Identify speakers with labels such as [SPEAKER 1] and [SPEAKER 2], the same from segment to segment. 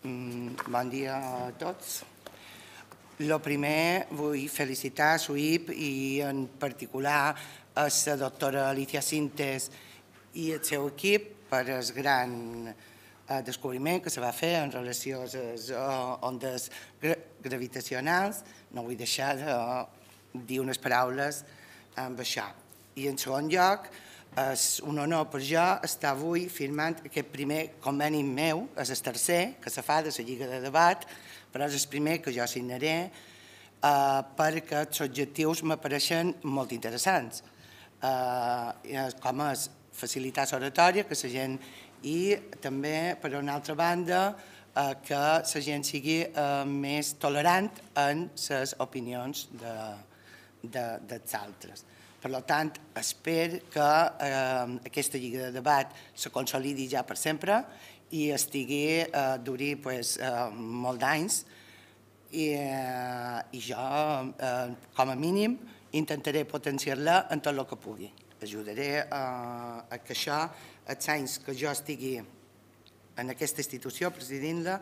[SPEAKER 1] Bon dia a tots. El primer, vull felicitar a SUIP i en particular a la doctora Alicia Sintes i el seu equip per el gran descobriment que se va fer en relació a les ondes gravitacionals. No vull deixar de dir unes paraules amb això. I en segon lloc, és un honor per jo estar avui firmant aquest primer conveni meu, és el tercer que se fa de la Lliga de Debat, però és el primer que jo signaré perquè els objectius m'apareixen molt interessants, com és facilitar l'oratòria, que la gent, i també, per una altra banda, que la gent sigui més tolerant en les opinions dels altres. Per tant, espero que aquesta lliga de debat se consolidi ja per sempre i duri molts d'anys. I jo, com a mínim, intentaré potenciar-la en tot el que pugui. Ajudaré a que això, els anys que jo estigui en aquesta institució presidint-la,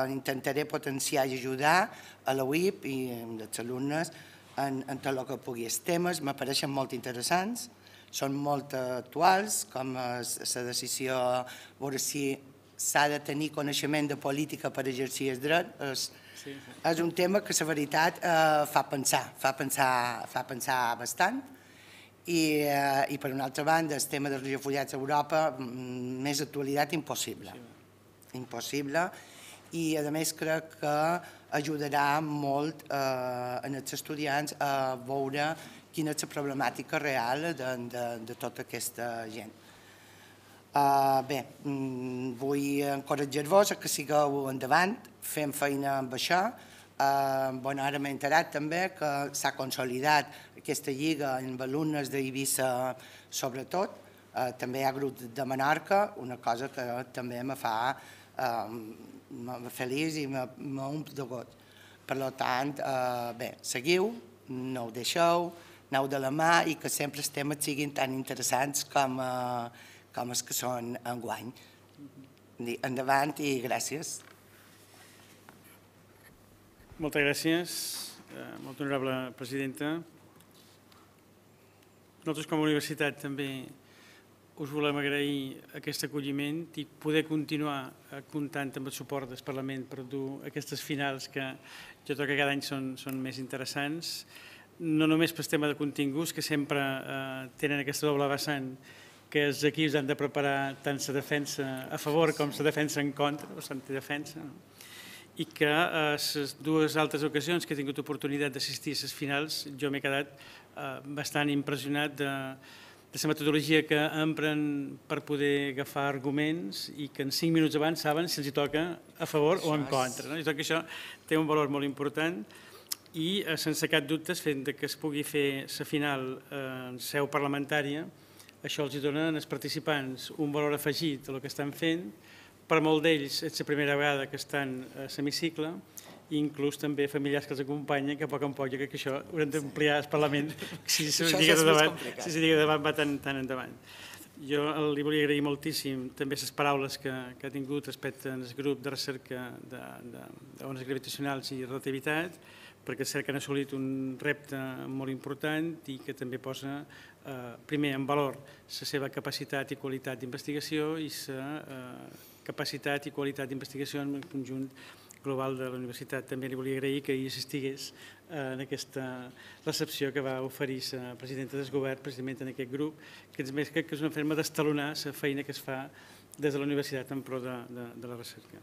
[SPEAKER 1] intentaré potenciar i ajudar a la UIP i als alumnes en tot el que pugui. Els temes m'apareixen molt interessants, són molt actuals, com la decisió veure si s'ha de tenir coneixement de política per exercir el dret. És un tema que, la veritat, fa pensar bastant. I per una altra banda, el tema dels refugiats a Europa, més actualitat impossible. Impossible. I, a més, crec que ajudarà molt als estudiants a veure quina és la problemàtica real de tota aquesta gent. Bé, vull encoratjar-vos que sigueu endavant, fem feina amb això. Ara m'he enterat també que s'ha consolidat aquesta lliga amb alumnes d'Eivissa sobretot. També hi ha grups de Menorca, una cosa que també me fa feliç i m'omple de goig. Per tant, bé, seguiu, no ho deixeu, aneu de la mà i que sempre els temes siguin tan interessants com els que són enguany. Endavant i gràcies.
[SPEAKER 2] Moltes gràcies, molt honorable presidenta. Nosaltres com a universitat també us volem agrair aquest acolliment i poder continuar comptant amb el suport del Parlament per dur aquestes finals que jo crec que cada any són més interessants, no només pel tema de continguts, que sempre tenen aquesta doble vessant, que els equips han de preparar tant la defensa a favor com la defensa en contra, o l'antidefensa, i que a les dues altres ocasions que he tingut oportunitat d'assistir a les finals jo m'he quedat bastant impressionat de la metodologia que empren per poder agafar arguments i que en 5 minuts abans saben si els toca a favor o en contra. Jo crec que això té un valor molt important i, sense cap dubte, fent que es pugui fer la final en seu parlamentària, això els dona als participants un valor afegit del que estan fent. Per molt d'ells és la primera vegada que estan a l'hemicicle, i inclús també familiars que els acompanyen, que a poc en poc jo crec que això haurem d'ampliar al Parlament si la lliga de debat va tan endavant. Jo li volia agrair moltíssim també les paraules que ha tingut respecte al grup de recerca d'ones gravitacionals i relativitat, perquè és cert que han assolit un repte molt important i que també posa primer en valor la seva capacitat i qualitat d'investigació i la capacitat i qualitat d'investigació en el conjunt global de la universitat. També li volia agrair que hi assistigués en aquesta recepció que va oferir la presidenta del govern precisament en aquest grup, que a més crec que és una forma d'estalonar la feina que es fa des de la universitat en pro de la recerca.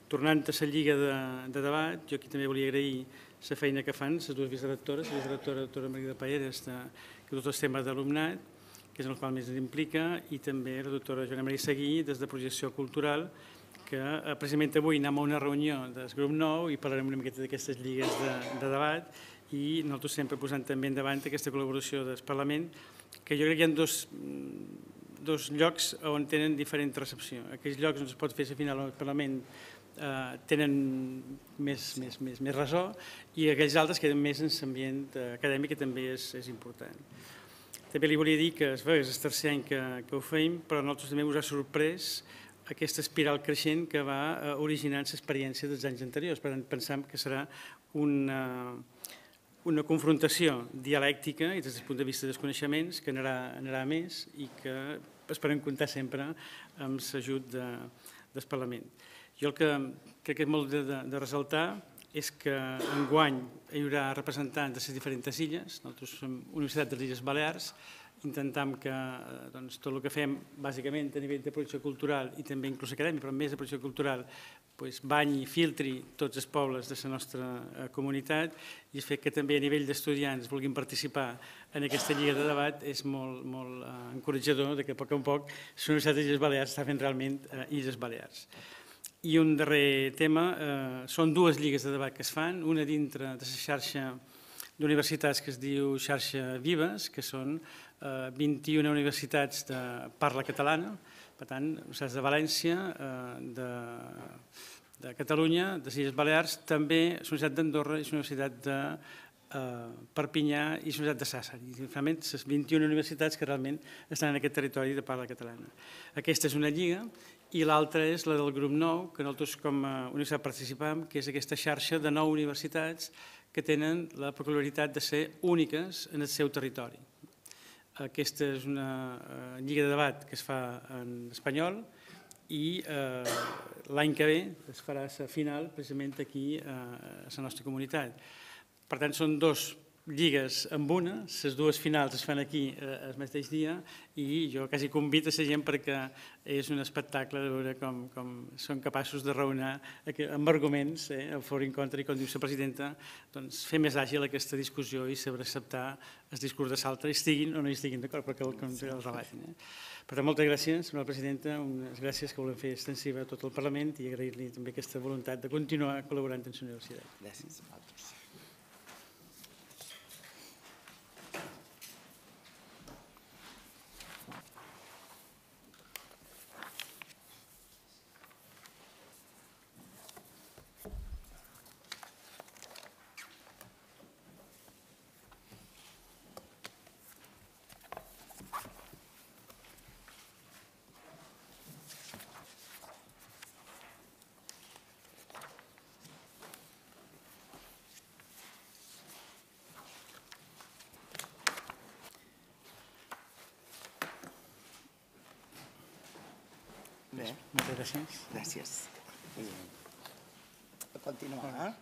[SPEAKER 2] Tornant a la lliga de debat, jo aquí també volia agrair la feina que fan les dues vicerectores, la vicerectora doctora Margarida Paeres, que tots els temes d'alumnat, que és en el qual més ens implica, i també la doctora Joana Maria Seguí, des de Projecció Cultural, que precisament avui anem a una reunió del grup 9 i parlarem una miqueta d'aquestes lligues de debat i nosaltres sempre posant també endavant aquesta col·laboració del Parlament, que jo crec que hi ha dos llocs on tenen diferent recepció. Aquells llocs on es pot fer la final al Parlament tenen més ressò i aquells altres queden més en l'ambient acadèmic, que també és important. També li volia dir que és el tercer any que ho feim, però a nosaltres també us ha sorprès aquesta espiral creixent que va originant l'experiència dels anys anteriors. Per tant, pensem que serà una confrontació dialèctica i des del punt de vista dels coneixements que anarà a més i que esperem comptar sempre amb l'ajut del Parlament. Jo el que crec que és molt de ressaltar és que enguany hi haurà representants de les diferents illes. Nosaltres som Universitat de les Illes Balears, intentem que tot el que fem bàsicament a nivell de producció cultural i també inclús acadèmica, però més de producció cultural, banyi i filtri tots els pobles de la nostra comunitat, i el fet que també a nivell d'estudiants vulguin participar en aquesta lliga de debat és molt encoratjador que a poc la Universitat de les Illes Balears està fent realment Illes Balears. I un darrer tema, són dues lligues de debat que es fan, una dintre de la xarxa d'universitats que es diu Xarxa Vives, que són 21 universitats de parla catalana, per tant, universitats de València, de Catalunya, de les Illes Balears, també la Universitat d'Andorra i la Universitat de Perpinyà i la Universitat de Sàsser. I finalment, les 21 universitats que realment estan en aquest territori de parla catalana. Aquesta és una lliga i l'altra és la del grup 9, que nosaltres com a universitat participam, que és aquesta xarxa de 9 universitats que tenen la peculiaritat de ser úniques en el seu territori. Aquesta és una lliga de debat que es fa en espanyol i l'any que ve es farà la final precisament aquí a la nostra comunitat. Per tant, són dues lligues amb una, les dues finals es fan aquí el mateix dia i jo quasi convido a la gent perquè és un espectacle de veure com són capaços de raonar amb arguments a favor i en contra i, com diu la presidenta, fer més àgil aquesta discussió i saber acceptar el discurs de l'altre, estiguin o no hi estiguin d'acord, perquè el relatin. Per tant, moltes gràcies, senyora presidenta, unes gràcies que volem fer extensiva a tot el Parlament i agrair-li també aquesta voluntat de continuar col·laborant amb la universitat.
[SPEAKER 1] Gràcies a vosaltres.
[SPEAKER 2] Moltes gràcies.
[SPEAKER 1] Gràcies. A continuar.